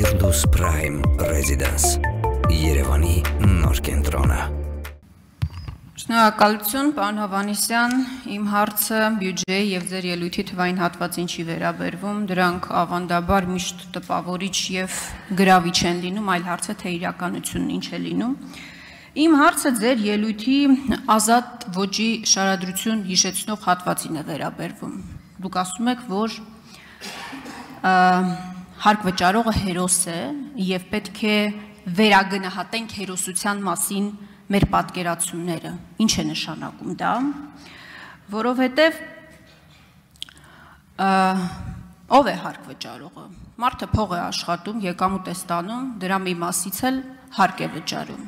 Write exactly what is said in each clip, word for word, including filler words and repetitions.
Firdaus Prime Residence Երևանի նոր կենտրոնը։ Շնորհակալություն, պարոն Հովհաննիսյան, իմ հարցը բյուջեի եւ ձեր ելույթի թվային հատվածին չի վերաբերվում, դրանք ավանդաբար միշտ տպավորիչ եւ գրավիչ են լինում, այլ հարցը թե իրականությունն ինչ է լինում։ Իմ հարցը ձեր ելույթի ազատ ոճի շարադրություն հիշեցնող հատվածին է վերաբերվում։ Դուք ասում եք, որ հարկ վճարողը հերոս է եւ պետք է վերագնահատենք հերոսության մասին մեր պատկերացումները, ինչ է նշանակում դա, որովհետև ով է հարկ վճարողը, մարդը փող է աշխատում, եկամուտ է ստանում, դրա մի մասից էլ հարկ է վճարում։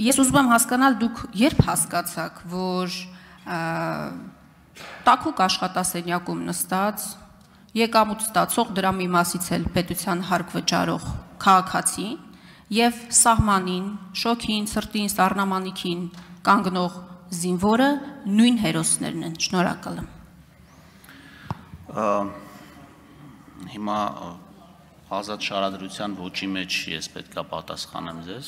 Ես ուզում եմ հասկանալ, դուք երբ հասկացաք, որ տաքուկ աշխատասենյակում նստած, եկամուտ ստացող, դրա մի մասից էլ պետության հարկ վճարող քաղաքացի և սահմանին, շոքին, սրտին, սառնամանիքին կանգնող զինվորը նույն հերոսներն են։ Շնորհակալ եմ։ Հիմա ազատ շարադրության ոճի մեջ ես պետք է պատասխանեմ ձեզ։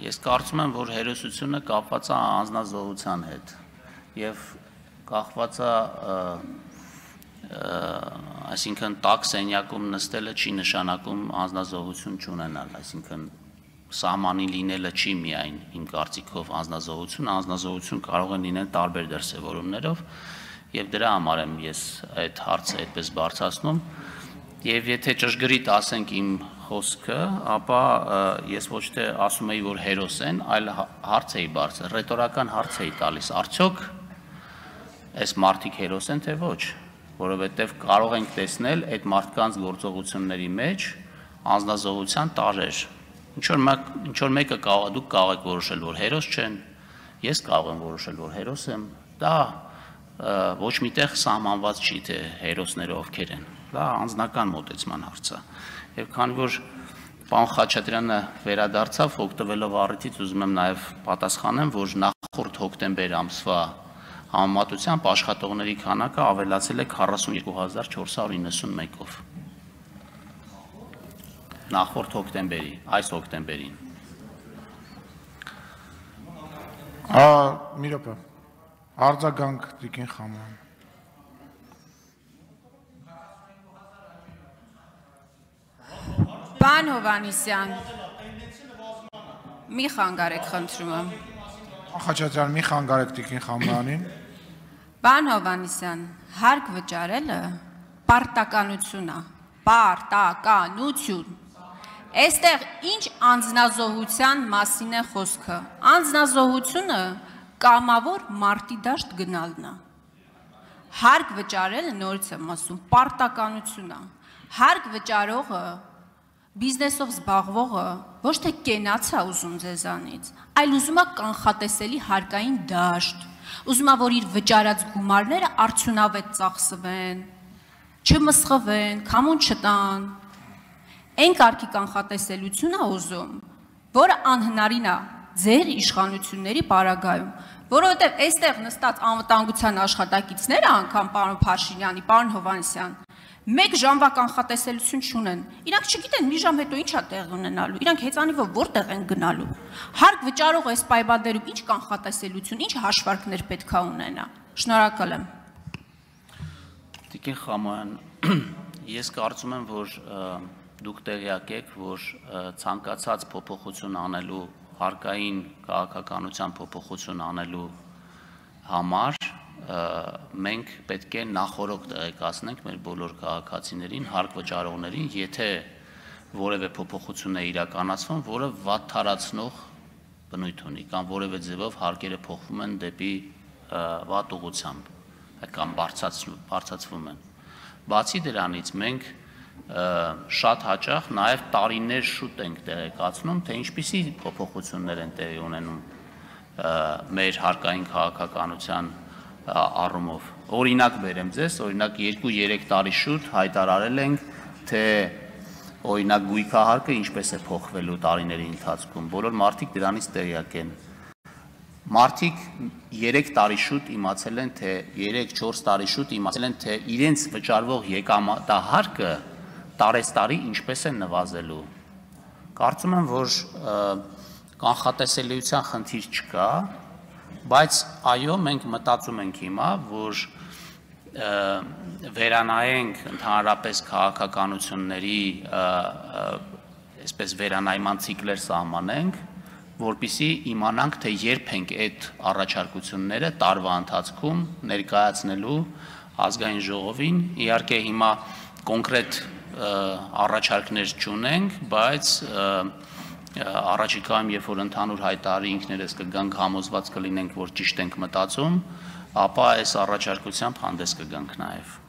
Ես կարծում եմ, որ հերոսությունը կապված է անձնազոհության հետ և կախված է այսինքն տաք սենյակում նստելը չի նշանակում անձնազոհություն չունենալ, այսինքն սահմանի լինելը չի միայն իմ կարծիքով անձնազոհություն, անձնազոհություն կարող են լինել տարբեր դրսևորումներով եւ դրա համար եմ ես այդ հարցը այդպես բարձրացնում եւ եթե ճշգրիտ ասենք իմ խոսքը, ապա ես ոչ թե ասում եի, որ հերոս են, այլ հարց էի բարձր, ռետորական հարց էի տալիս, արդյոք այս մարդիկ հերոս են թե ոչ, որովհետև կարող ենք տեսնել այդ մարդկանց գործողությունների մեջ անձնազոհության տարրեր։ Ինչ որ մեկը դուք կարող եք որոշել, որ հերոս չեն, ես կարող եմ որոշել, որ հերոս եմ, դա ոչ միտեղ սահմանված չի, թե հերոսները ովքեր են, դա անձնական մոտեցման հարց է։ Եվ քանի որ պարոն Խաչատրյանը վերադարձավ, օգտվելով առիթից ուզում եմ նաև պատասխանեմ, որ նախորդ հոկտեմբեր ամսվա համեմատությամբ աշխատողների քանակը ավելացել է քառասունյոթ հազար չորս հարյուր իննսունմեկով։ Նախորդ հոկտեմբերի, այս հոկտեմբերին։ Մի րոպե, արձագանք Տիկին Խաման։ Պարոն Հովհաննիսյան, մի խանգարեք, խնդրում եմ։ Խաչատրյան, մի խանգարեք Տիկին Խամանին։ Պարոն Հովհաննիսյան, հարկ վճարելը պարտականություն է, պարտականություն։ Այստեղ ինչ անձնազոհության մասին է խոսքը։ Անձնազոհությունը կամավոր մարտի դաշտ գնալն է։ Հարկ վճարելը նորից եմ ասում, պարտականություն է։ Հարկ վճարողը, բիզնեսով զբաղվողը ոչ թե կենաց է ուզում ձեզանից, այլ ուզում է կանխատեսելի հարկային դաշտ, ուզում է, որ իր վճարած գումարները արդյունավետ ծախսվեն, չմսխվեն, քամուն չտան։ Այն կարգի կանխատեսելություն է ուզում, որը անհնարին է ձեր իշխանությունների պարագայում, որովհետև այստեղ նստած անվտանգության աշխատակիցները անգամ պարոն Փաշինյանի, պարոն Հովհաննիսյան, մեկ ժամվա կանխատեսելություն չունեն, իրանք չգիտեն մի ժամ հետո ինչ է տեղ ունենալու, իրանք հեծանիվով որտեղ են գնալու, հարկ վճարող այս պայմաններում ինչ կանխատեսելություն, ինչ հաշվարկներ պետք է ունենա։ Շնորհակալ եմ։ Տիկին Խաման, ես կարծում եմ, որ դուք տեղյակ եք, որ ցանկացած փոփոխություն անելու, հարկային քաղաքականության փոփոխություն անելու համար մենք պետք է նախորոք տեղեկացնենք մեր բոլոր քաղաքացիներին, հարկ վճարողներին, եթե որևէ փոփոխություն է իրականացվում, որը վատթարացնող բնույթ ունի, կամ որևէ ձևով հարկերը փոխվում են դեպի վատ ուղղությամբ, կամ բարձրացվում են։ Բացի դրանից մենք շատ հաճախ նաև տարիներ շուտ ենք տեղեկացնում, թե ինչպիսի փոփոխություններ են տեղի ունենում մեր հարկային քաղաքականության առումով։ Օրինակ բերեմ ձեզ, օրինակ երկու-երեք տարի շուտ հայտարարել ենք, թե օրինակ գույքահարկը ինչպես է փոխվելու տարիների ընթացքում, բոլոր մարդիկ դրանից տեղյակ են։ Մարդիկ երեք տարի շուտ իմացել են, թե երեք-չորս տարի շուտ իմացել են, թե իրենց վճարվող եկամտահարկը տարեստարի ինչպես է նվազելու։ Կարծում եմ, որ կանխատեսելիության խնդիր չկա, բայց այո, մենք մտածում ենք հիմա, որ վերանայենք ընդհանրապես քաղաքականությունների այսպես վերանայման ցիկլեր սահմանենք, որպեսզի իմանանք, թե երբ ենք այդ առաջարկությունները տարվա ընթացքում ներկայացնելու ազգային ժողովին։ Իհարկե հիմա կոնկրետ առաջարկներ չունենք, բայց առաջիկայում, երբ որ ընդհանուր հայտարարի ինքներս կգանք, համոզված կլինենք, որ ճիշտ ենք մտածում, ապա այս առաջարկությամբ հանդես կգանք նաև։